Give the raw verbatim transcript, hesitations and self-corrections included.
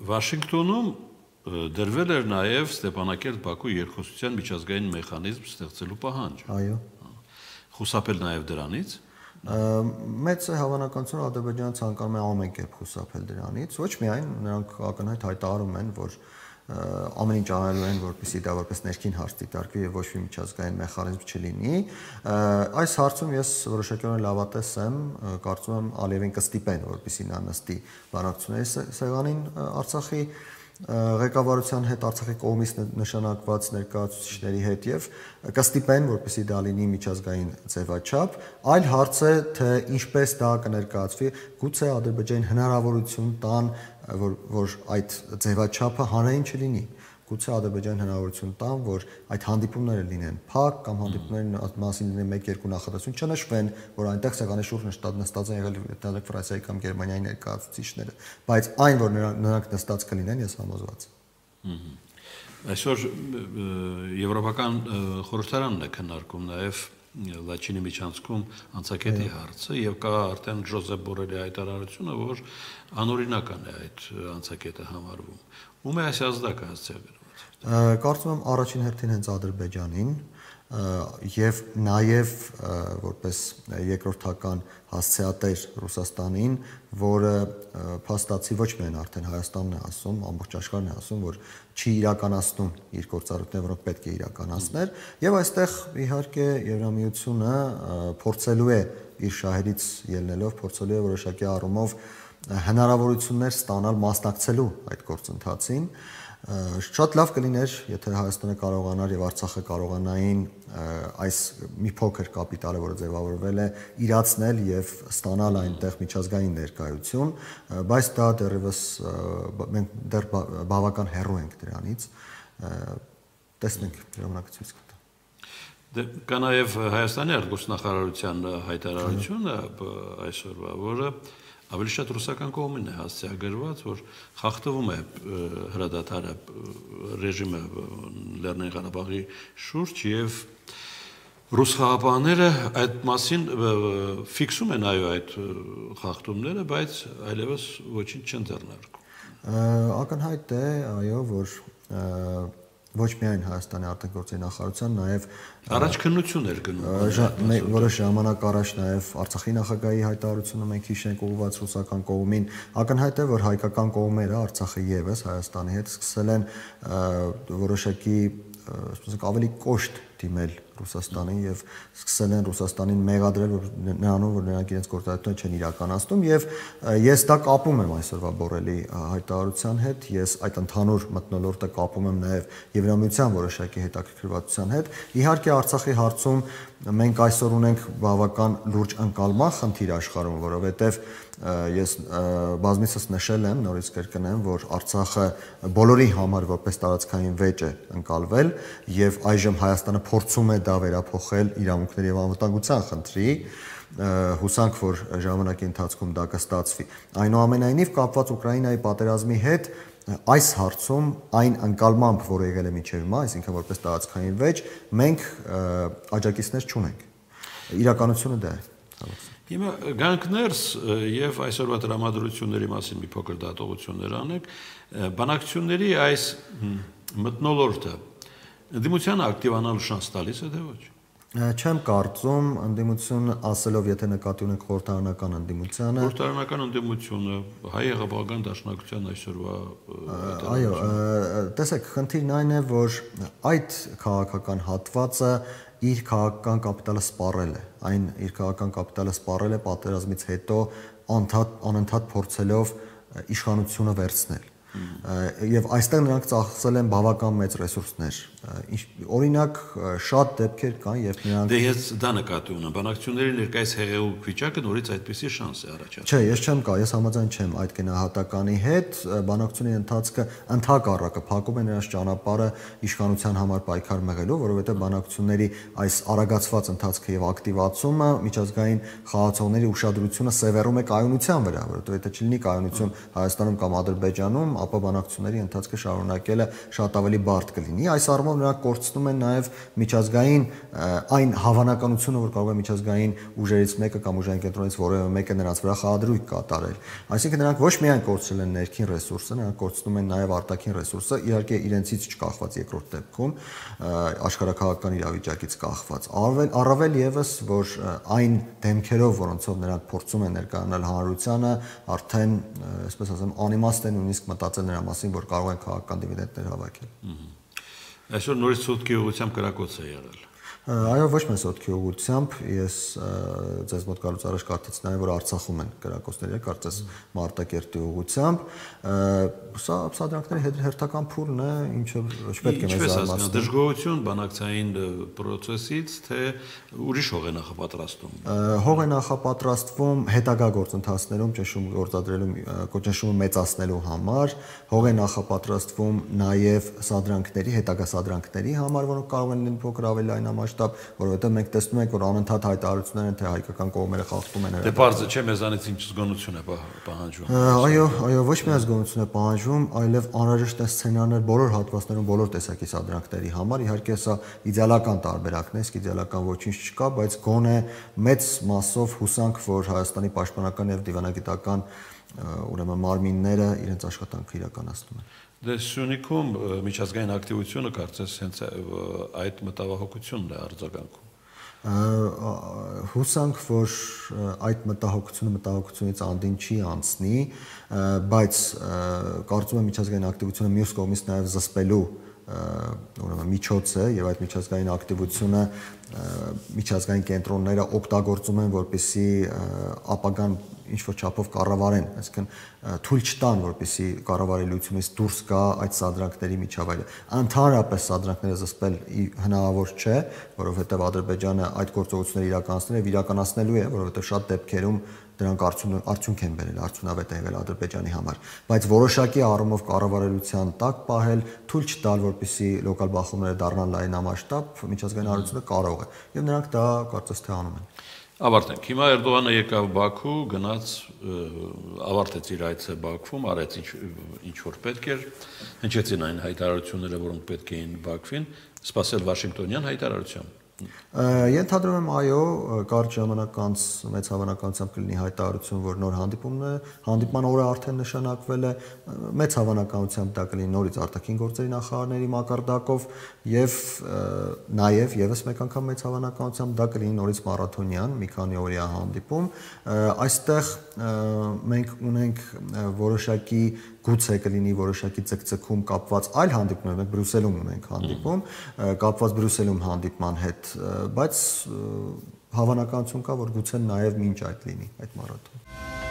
Վաշինգտոնում դրվել էր նաև Ստեփանակերտ-Բաքու երկխոսության միջազգային մեխանիզմ ստեղծելու պահանջ։ Այո։ Խուսափել նաև դրանից։ Մեծ է հավանականությունը Ադրբեջանը ցանկանում է ամեն կերպ խուսափել դրանից, ոչ միայն նրանք ակնհայտ հայտարարում են, որ ամեն ինչ անելու են, որպեսզի դա որպես ներքին հարց դիտարկվի եւ ոչ մի միջազգային մեխանիզմ չլինի։ Այս հարցում ես որոշակիորեն լավատես եմ, կարծում եմ Ալիևին կստիպեն, որպեսզի նա նստի բանակցությունների սեղանին Արցախի ղեկավարության հետ, Արցախի կողմից նշանակված ներկայացուցիչների հետ եւ կստիպեն, որպեսզի դա լինի միջազգային ձևաչափ, այլ հարց է, թե ինչպես դա կներկայացվի, գուցե Ադրբեջանին հնարավորություն տան, որ որ այդ ձևաչափը հանրային չլինի, գուցե Ադրբեջանին հնարավորություն տան, որ այդ հանդիպումները լինեն փակ կամ հանդիպումների մասին լինեն մեկ-երկու նախադասություն, չնշվեն, որ այնտեղ սեղանի շուրջ նստած են եղել Ֆրանսիայի կամ Գերմանիայի ներկայացուցիչները, բայց այն, որ նրանք նստած կլինեն, ես համոզված եմ։ Այսօր Եվրոպական խորհրդարանն է քննարկում նաև Լաչինի միջանցքում անցակետի հարցը եւ կա արդեն Ժոզեփ Բորելի հայտարարությունը, որ անօրինական է այդ անցակետը համարվում։ Ում է այս ազդակը հասցեագրված։ Կարծում եմ առաջին հերթին հենց Ադրբեջանին եւ նաեւ որպես երկրորդական հասցեատեր Ռուսաստանին, որը փաստացի ոչ միայն արդեն Հայաստանն է ասում, ամբողջ աշխարհն է ասում, որ չի իրականացնում իր գործառույթները, որոնք պետք է իրականացներ, եւ այստեղ իհարկե Եվրամիությունը փորձելու է իր շահերից ելնելով, փորձելու է որոշակի առումով հնարավորություններ ստանալ մասնակցելու այդ գործընթացին։ Շատ լավ կլիներ, եթե Հայաստանը կարողանար եւ Արցախը կարողանային այս մի փոքր կապիտալը, որը ձևավորվել է, իրացնել եւ ստանալ այնտեղ միջազգային ներկայություն, բայց դա դեռևս մենք դեռ բավական հեռու ենք դրանից։ Տեսնենք, ժամանակը ցույց կտա։ Դե կա նաեւ Հայաստանի արտգործնախարարության հայտարարությունը այսօրվա, որը ավելի շատ ռուսական կողմին է հասցեագրված, որ խախտվում է հրադադարը ռեժիմը Լեռնային Ղարաբաղի շուրջ եւ ռուս խաղապահները այդ մասին ֆիքսում են այո այդ խախտումները, բայց այլևս ոչինչ չեն ձեռնարկում։ Ակնհայտ է, այո, որ ոչ միայն Հայաստանի արտգործնախարարության նախարարության, նաև առաջ քննություն էր գնում։ Որոշ ժամանակ առաջ նաև Արցախի նախագահի հայտարարությունը մենք հիշենք ուղղված ռուսական կողմին, ակնհայտ է, որ հայկական կողմերը Արցախը եւս Հայաստանի հետ սկսել են որոշակի ասենք ավելի կոշտ դիմել Ռուսաստանին եւ սկսել են Ռուսաստանին մեղադրել նրանով, որ նրանք իրենց գործառույթները չեն իրականացնում եւ ես դա կապում եմ այսօրվա Բորելի հայտարարության հետ, ես այդ ընդհանուր մթնոլորտը կապում եմ նաեւ Եվրամիության որոշակի հետաքրքրվածության հետ։ Իհարկե Արցախի հարցում մենք այսօր ունենք բավական լուրջ ընկալման խնդիր աշխարհում, որովհետեւ ես բազմիցս նշել եմ, նորից կրկնեմ, որ Արցախը բոլորի համար որպես տարածքային վեճ է ընկալվել եւ այժմ Հայաստանը փորձում է դա վերափոխել իրավունքների եւ անվտանգության խնդրի, հուսանք, որ ժամանակի ընթացքում դա կստացվի։ Այնուամենայնիվ կապված Ուկրաինայի պատերազմի հետ այս հարցում այն ընկալմամբ, որ եղել է մինչև հիմա, այսինքն որպես տարածքային վեճ, մենք աջակիցներ չունենք։ Իրականությունը դա է։ Հիմա գանք ներս եւ այսօրվա տրամադրությունների մասին մի փոքր դատողություններ անենք, բանակցությունների այս մթնոլորտը ընդդիմությանը ակտիվանալու շանս տալիս է թե ոչ։ Չեմ կարծում, ընդդիմություն ասելով, եթե նկատի ունենք խորհրդարանական ընդդիմությանը, խորհրդարանական ընդդիմությունը, հայ եղբայրական դաշնակցության այսօրվա այո, տեսեք, խնդիրն այն է, որ այդ քաղաքական հատվածը իր քաղաքական կապիտալը սպառել է, այն իր քաղաքական կապիտալը սպառել է պատերազմից հետո անընդհատ փորձելով իշխանությունը վերցնել։ Եվ այստեղ նրանք ծախսել են բավական մեծ ռեսուրսներ։ Օրինակ շատ դեպքեր կան, երբ նրանք Դե ես դա նկատի ունեմ, բանակցությունների ներկայիս հեղեղուկ վիճակը նորից այդպիսի շանս է առաջացնում։ Չէ, ես չեմ կա, ես համաձայն չեմ այդ գնահատականի հետ, բանակցությունների ընթացքը ընդհակառակը փակում է նրանց ճանապարհը իշխանության համար պայքար մղելու, որովհետև բանակցությունների այս արագացված ընթացքը եւ ակտիվացումը միջազգային խաղացողների ուշադրությունը սևեռում է կայունության վրա, որովհետև եթե չլինի կայունություն Հայաստանում կամ Ադրբեջանում, ապա բանակցությունների ընթացքը շարունակելը շատ ավելի բարդ կլինի։ Այս առումով նրանք կորցնում են նաև միջազգային այն հավանականությունը, որ կարող է միջազգային ուժերից մեկը կամ ուժային կենտրոնից որևէ մեկը նրանց վրա խաղադրույք կատարել։ Այսինքն նրանք ոչ միայն կորցրել են ներքին ռեսուրսը, նրանք կորցնում են նաև արտաքին ռեսուրսը, իհարկե իրենցից չկախված երկրորդ դեպքում, աշխարհաքաղաքական իրավիճակից կախված։ Առավել առավել եւս, որ այն դեմքերով, որոնցով նրանք փորձում են ներկայանալ հանրությանը, արդեն, այսպես ասեմ, անիմաստ է նույնիսկ մտածել նրա մասին, որ կարող են քաղաքական դիվիդենտներ հավաքել։ Այսօր նորից սուտքի ուղղությամբ կրակոց է եղել։ Այո, ոչ մեծ սոտքի ուղղությամբ, ես ձեզ մոտ գալուց առաջ կարծեցի նաև, որ Արցախում են կրակոցները, կարծես Մարտակերտի ուղղությամբ, սա սադրանքների հերթական փուլն է, ինչը չպետք է մեզ զարմացնի։ Դժգոհություն բանակցային process-ից, թե ուրիշ հող է նախապատրաստվում։ Հող է նախապատրաստվում հետագա գործընթացներում ճնշում գործադրելու, ճնշումը մեծացնելու համար, հող է նախապատրաստվում նաև սադրանքների, հետագա սադրանքների համար, որոնք կարող են լինել փոքր ավելի լայնամասշտաբ, որովհետև մենք տեսնում ենք, որ անընդհատ հայտարարություններ են, թե հայկական կողմերը խախտում են։ Դե բարձր չէ, մեզանից ինչ զգոնություն է պահանջվում։ Այո, այո, ոչ միայն զգոնություն է պահանջվում, այլև անհրաժեշտ է սցենարներ բոլոր հատվածներում, բոլոր տեսակի սադրանքների համար։ Իհարկե սա իդեալական տարբերակն է, իսկ իդեալական ոչինչ չկա, բայց գոնե մեծ մասով հուսանք, որ Հայաստանի պաշտպանական եւ դիվանագիտական ուրեմն մարմինները իրենց աշխատանքը իրականացնում են։ Դե Սյունիքում միջազգային ակտիվությունը կարծես հենց այդ մտավախությունն է արձագանքում։ Հուսանք, որ այդ մտահոգությունը մտահոգությունից անդին չի անցնի, բայց կարծում եմ միջազգային ակտիվությունը մյուս կողմից նաև զսպելու ուրեմն միջոց է եւ այդ միջազգային ակտիվությունը միջազգային կենտրոնները օգտագործում են, որպեսզի ապագան ինչ-որ չափով կառավարեն, այսինքն թույլ չտան, որպեսզի կառավարելիությունից դուրս գա այդ սադրանքների միջավայրը։ Ընդհանրապես սադրանքները զսպել հնարավոր չէ, որովհետև Ադրբեջանը այդ գործողությունները իրականացնել եւ իրականացնելու է, որովհետև շատ դեպքերում դրանք արդյունք են բերել, արդյունավետ են եղել Ադրբեջանի համար, բայց որոշակի առումով կառավարելիության տակ պահել, թույլ չտալ, որպեսզի լոկալ բախումները դառնան լայնամասշտաբ, միջազգային հանրությունը կարող է, եւ նրանք դա կարծես թե անում են։ Ավարտենք։ Հիմա Էրդողանը եկավ Բաքու, գնաց, ավարտեց իր այցը Բաքվում, արեց ինչ ինչ որ պետք էր, հնչեցին այն հայտարարությունները, որոնք պետք էին Բաքվին, սպասել Վաշինգտոնյան հայտարարության։ Ենթադրում եմ, այո, կարճ ժամանակ անց մեծ հավանականությամբ կլինի հայտարարություն, որ նոր հանդիպումն է, հանդիպման օրը արդեն նշանակվել է, մեծ հավանականությամբ դա կլինի նորից արտաքին գործերի նախարարների մակարդակով եւ նաեւ եւս մեկ անգամ մեծ հավանականությամբ դա կլինի նորից մարաթոնյան մի քանի օրյա հանդիպում։ Այստեղ մենք ունենք որոշակի գուցե կլինի որոշակի ցկցկում կապված այլ հանդիպումներ, մենք Բրյուսելում ունենք հանդիպում, կապված Բրյուսելում հանդիպման հետ, բայց հավանականություն կա, որ գուցե նաև մինչ այդ լինի այդ մարաթոն։